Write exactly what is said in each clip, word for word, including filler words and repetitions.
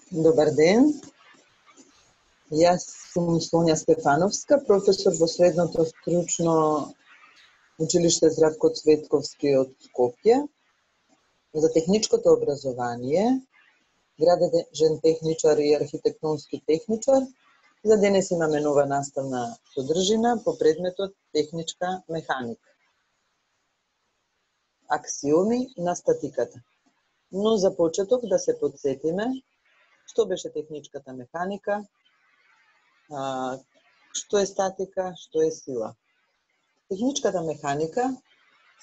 Добар ден. Јас сум Сонја Стефановска, професор во средното стручно училиште Здравко Цветковски од Скопје за техничкото образование, градежен техничар и архитектонски техничар. За денес имаме нова наставна содржина по предметот техничка механика. Аксиоми на статиката. Но за почеток да се подсетиме што беше техничката механика, а, што е статика, што е сила. Техничката механика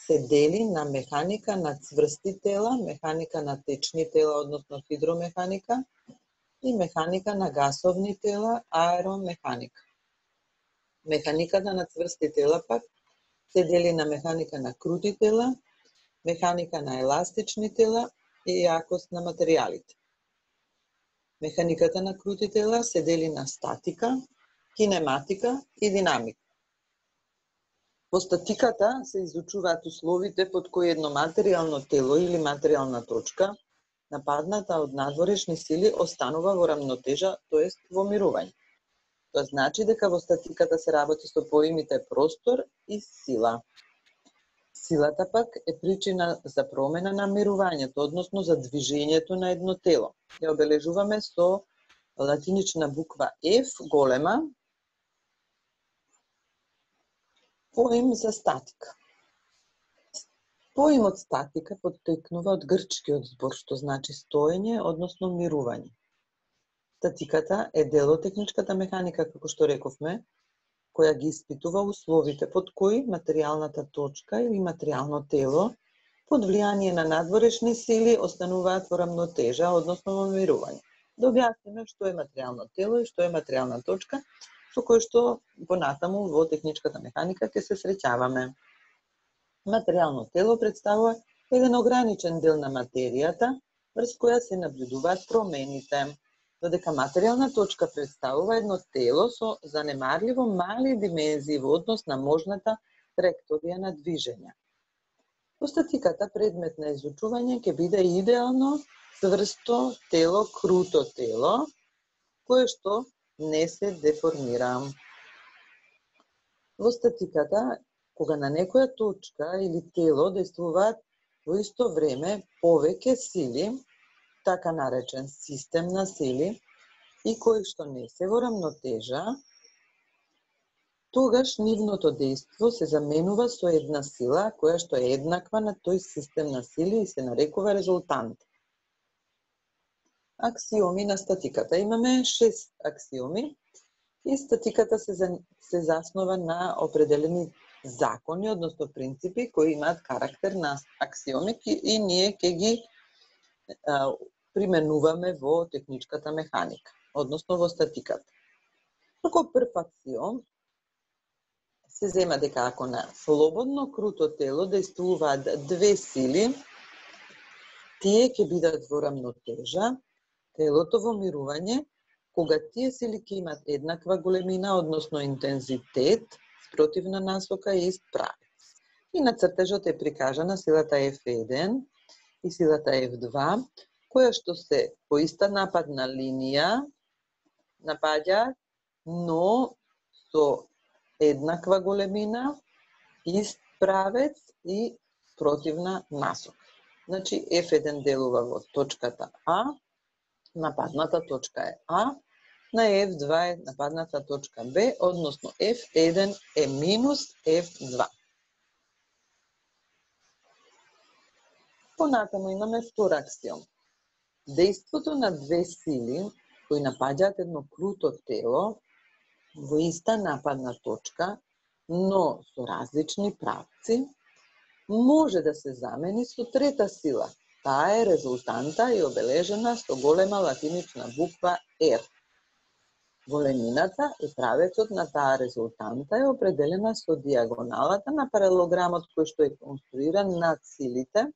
се дели на механика на цврсти тела, механика на течни тела, односно хидромеханика, и механика на гасовни тела, аеромеханика. Механиката на цврсти тела пак се дели на механика на крути тела, механика на еластични тела и јакост на материјалите. Механиката на крути тела се дели на статика, кинематика и динамика. Во статиката се изучуваат условите под кои едно материјално тело или материјална точка, нападната од надворешни сили, останува во рамнотежа, тоест во мирување. Тоа значи дека во статиката се работи со поимите простор и сила. Силата пак е причина за промена на мирувањето, односно за движењето на едно тело. Ја обележуваме со латинична буква F голема, поим за статика. Поимот статика поттекнува од грчкиот збор, што значи стоење, односно мирување. Статиката е дел од техничката механика, како што рековме, која ги испитува условите под кои материјалната точка или материјално тело под влијание на надворешни сили остануваат во рамнотежа, односно во мирување. Да објасниме што е материјално тело и што е материјална точка, со кој што понатаму во техничката механика ќе се среќаваме. Материјално тело представува еден ограничен дел на материјата, врз која се наблюдуваат промените, додека материјална точка представува едно тело со занемарливо мали димензии во однос на можната траекторија на движење. Во статиката предмет на изучување ќе биде идеално цврсто тело, круто тело, кое што не се деформира. Во статиката, кога на некоја точка или тело действуваат во исто време повеќе сили, така наречен систем на сили, и кои што не се во рамнотежа, тогаш нивното дејство се заменува со една сила која што е еднаква на тој систем на сили и се нарекува резултант. Аксиоми на статиката. Имаме шест аксиоми и статиката се, за, се заснова на определени закони, односно принципи кои имаат карактер на аксиоми и ние ќе ги а, применуваме во техничката механика, односно во статиката. Како прв аксиом се зема дека ако на слободно круто тело действуваат две сили, тие ќе бидат во рамнотежа, телото во мирување, кога тие сили ќе имат еднаква големина, односно интензитет, спротивна насока и ист правец. И на цртежот е прикажана силата F еден и силата F два, која што се по иста нападна линија напаѓа, но со еднаква големина, ист правец и противна насока. Значи F еден делува во точката А, нападната точка е А, на F два е нападната точка Б, односно F еден е минус F два. Понатаму имаме втор аксиом. Дејството на две сили кои напаѓаат едно круто тело во иста нападна точка, но со различни правци, може да се замени со трета сила. Таа е резултанта и обележена со голема латинична буква R. Големината и правецот на таа резултанта е определена со диагоналата на паралелограмот кој што е конструиран над силите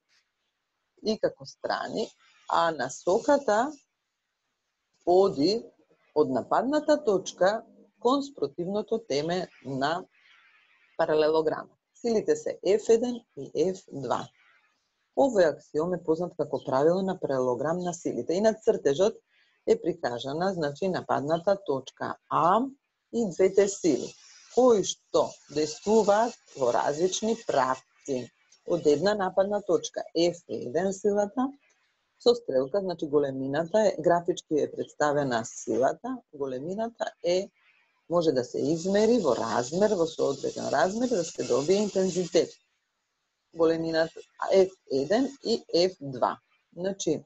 и како страни, а насоката оди од нападната точка кон спротивното теме на паралелограмот. Силите се F еден и F два. Овој аксиом е познат како правило на паралелограм на силите и на цртежот е прикажана, значи, нападната точка А и двете сили, кои што действуваат во различни правци. Од една нападна точка Ф еден силата, со стрелка, значи големината е, графички е представена силата, големината е, може да се измери во размер, во соодветен размер, да се добие интензитет. Големината Ф еден и Ф два. Значи,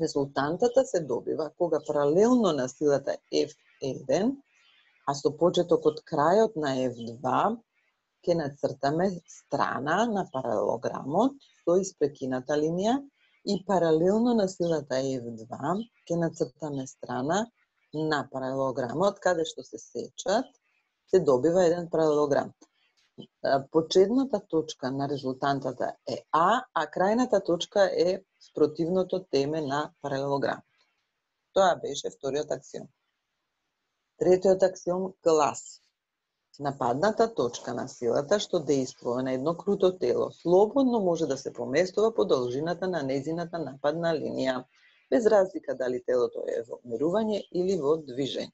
резултантата се добива кога паралелно на силата Ф еден, а со почеток од крајот на Ф два, ќе нацртаме страна на паралелограмот со испрекината линија и паралелно на силата Ф два ќе нацртаме страна на паралелограмот каде што се сечат, се добива еден паралелограм. Почетната точка на резултантата е А, а крајната точка е спротивното теме на паралелограм. Тоа беше вториот аксиом. Третиот аксиом гласи: нападната точка на силата што действува на едно круто тело слободно може да се поместува по должината на незината нападна линија, без разлика дали телото е во мирување или во движење.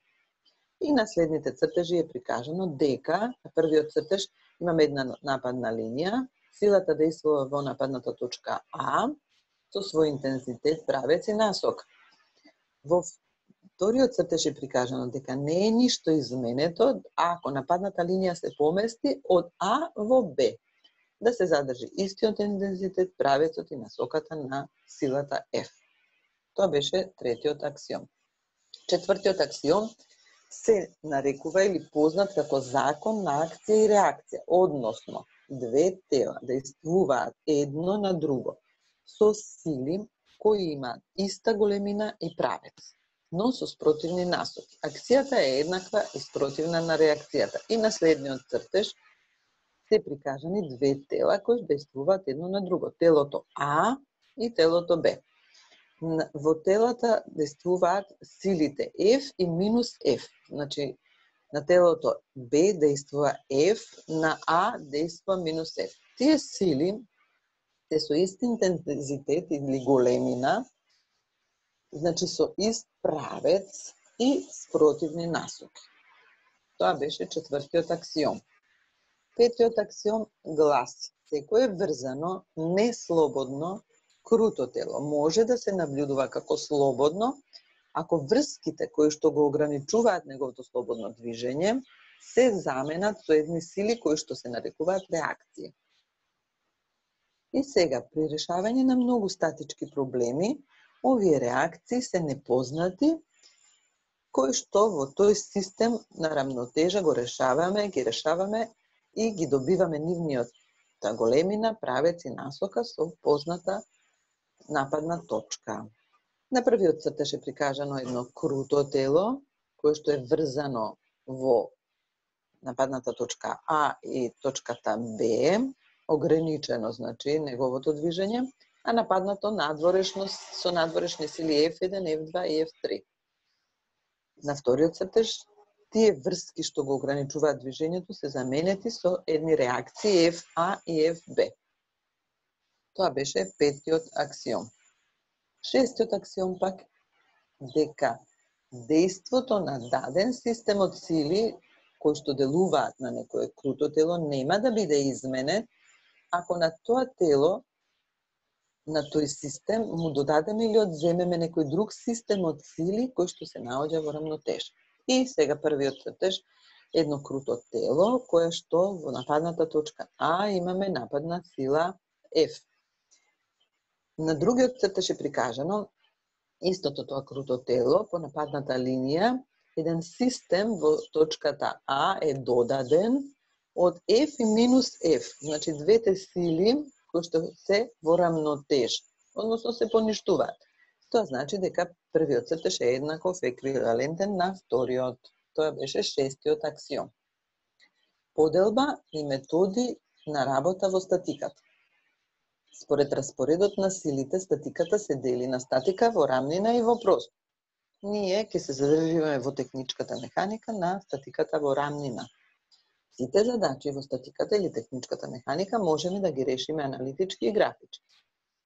И на следните цртежи е прикажано дека на првиот цртеж имаме една нападна линија, силата действува во нападната точка А со свој интензитет, правец и насок. Во вториот цртеж е прикажано дека не е ништо изменето ако нападната линија се помести од А во Б, да се задржи истиот интензитет, правецот и насоката на силата F. Тоа беше третиот аксиом. Четвртиот аксиом се нарекува или познат како закон на акција и реакција, односно две тела действуваат едно на друго со сили кои имаат иста големина и правец, но со спротивни насоки. Акцијата е еднаква и спротивна на реакцијата. И на следниот цртеж се прикажани две тела кои действуваат едно на друго, телото А и телото Б. Во телата действуваат силите F и минус F. Значи, на телото Б действува F, на А действува минус F. Тие сили се со ист интензитет или големина, значи со ист правец и спротивни насоки. Тоа беше четвртиот аксиом. Петиот аксиом гласи: секое врзано, неслободно, круто тело може да се наблюдува како слободно, ако врските кои што го ограничуваат неговото слободно движење се заменат со едни сили кои што се нарекуваат реакции. И сега, при решавање на многу статички проблеми, овие реакции се непознати, кои што во тој систем на рамнотежа го решаваме, ги решаваме и ги добиваме нивниот големина, правец и насока со позната нападна точка. На првиот цртеж е прикажано едно круто тело, кое што е врзано во нападната точка А и точката Б, ограничено, значи, неговото движење, а нападнато надворешно со надворешни сили Ф еден, Ф два и Ф три. На вториот цртеж, тие врски што го ограничуваат движењето се заменети со едни реакции Ф А и Ф Б. Тоа беше петиот аксиом. Шестиот аксиом пак дека дејството на даден систем од сили кои што делуваат на некое круто тело нема да биде изменет ако на тоа тело, на тој систем му додадеме или одземеме некој друг систем од сили кој што се наоѓа во рамнотежа. И сега првиот цртеж, едно круто тело кое што во нападната точка А имаме нападна сила F. На другиот цртеж е прикажано истото тоа круто тело по нападната линија, еден систем во точката А е додаден од F и минус F, значи двете сили кои што се во рамнотеж, односно се поништуваат. Тоа значи дека првиот цртеж е еднаков еквивалентен на вториот. Тоа беше шестиот аксиом. Поделба и методи на работа во статиката. Според распоредот на силите, статиката се дели на статика во рамнина и во простор. Ние ќе се задржиме во техничката механика на статиката во рамнина. Сите задачи во статиката или техничката механика можеме да ги решиме аналитички и графички.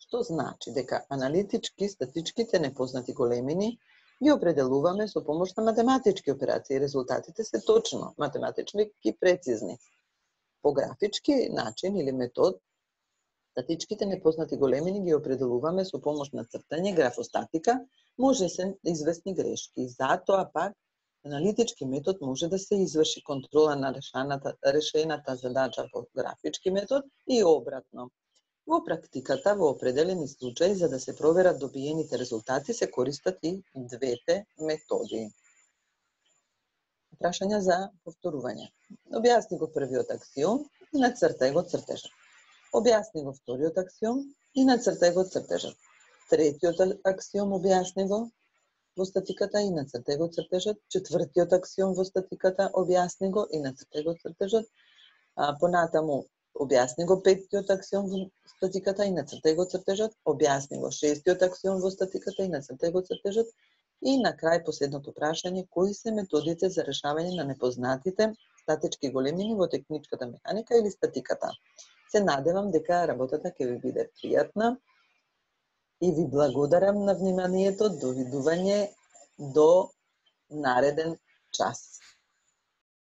Што значи дека аналитички, статичките непознати големини ги определуваме со помош на математички операции. Резултатите се точно математички и прецизни. По графички начин или метод, статичките непознати големини ги определуваме со помош на цртање, графостатика, може се известни грешки. Затоа пак аналитички метод може да се изврши контрола на решената, решената задача по графички метод и обратно. Во практиката, во определени случаи, за да се проверат добиените резултати, се користат и двете методи. Прашања за повторување. Објасни го првиот аксиом и нацртај го цртежот. Објасни го вториот аксиом и нацртај го цртежот. Третиот аксиом објасни го во статиката и нацртај го цртежот. Четвртиот аксиом во статиката објасни го и нацртај го цртежот. А, понатаму објасни го петтиот аксиом во статиката и нацртај го цртежот. Објасни го шестиот аксиом во статиката и нацртај го цртежот. И на крај последното прашање, кои се методите за решавање на непознатите статички големини во техничката механика или статиката. Се надевам дека работата ќе ви биде пријатна и ви благодарам на вниманието. Довидување до нареден час.